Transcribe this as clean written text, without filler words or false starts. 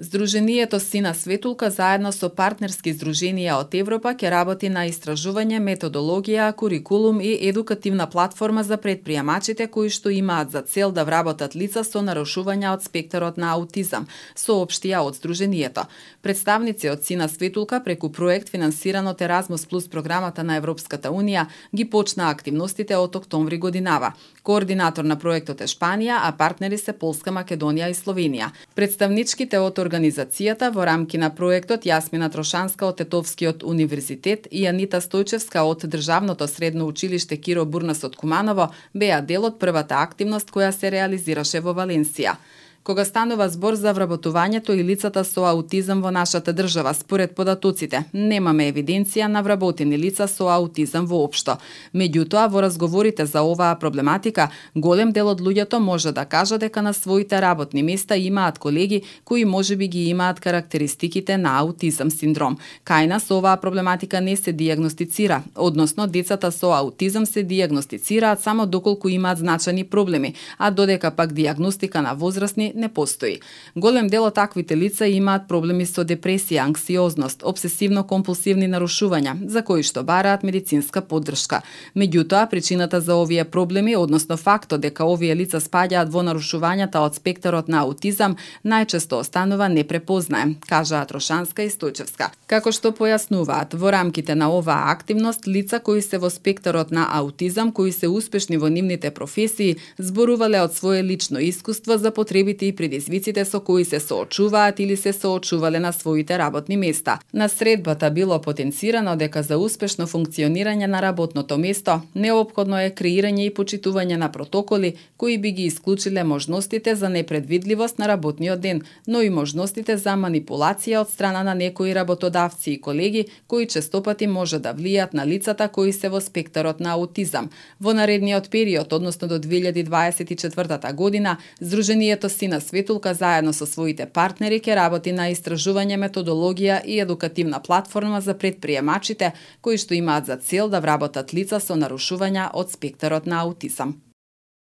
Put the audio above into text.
Здруженијето Сина Светулка заедно со партнерски здруженија од Европа ќе работи на истражување, методологија, курикулум и едукативна платформа за претприемачите кои што имаат за цел да вработат лица со нарушувања од спектарот на аутизам, соопштија од здруженијето. Представници од Сина Светулка преку проект финансиран од Еразмус плюс програмата на Европската унија ги почнаа активностите од октомври годинава. Координатор на проектот е Шпанија, а партнери се Полска, Македонија и Словенија. Представничките од организацијата во рамки на проектот Јасмина Трошанска од Тетовскиот универзитет и Анита Стојчевска од Државното средно училиште Киро Бурнас од Куманово беа дел од првата активност која се реализираше во Валенсија. Кога станува збор за вработувањето и лицата со аутизам во нашата држава, според податоците, немаме евиденција на вработени лица со аутизам воопшто. Меѓутоа, во разговорите за оваа проблематика, голем дел од луѓето може да кажа дека на своите работни места имаат колеги кои можеби ги имаат карактеристиките на аутизам синдром. Кај нас оваа проблематика не се дијагностицира, односно децата со аутизам се дијагностицираат само доколку имаат значајни проблеми, а додека пак дијагностика на возрастни не постои. Голем дел од таквите лица имаат проблеми со депресија, анксиозност, обсесивно-компулсивни нарушувања, за кои што бараат медицинска поддршка. Меѓутоа, причината за овие проблеми, односно фактот дека овие лица спаѓаат во нарушувањата од спектарот на аутизам, најчесто останува непрепознаем, кажаа Трошанска и Стојчевска. Како што појаснуваат, во рамките на оваа активност, лица кои се во спектарот на аутизам, кои се успешни во нивните професии, зборувале од свое лично искуство за потребите и предизвиците со кои се соочуваат или се соочувале на своите работни места. На средбата било потенцирано дека за успешно функционирање на работното место неопходно е креирање и почитување на протоколи кои би ги исклучиле можностите за непредвидливост на работниот ден, но и можностите за манипулација од страна на некои работодавци и колеги кои честопати може да влијат на лицата кои се во спектарот на аутизам. Во наредниот период, односно до 2024 година, Здруженијето Сина Светулка заедно со своите партнери ќе работи на истражување, методологија и едукативна платформа за претприемачите кои што имаат за цел да вработат лица со нарушувања од спектарот на аутизам.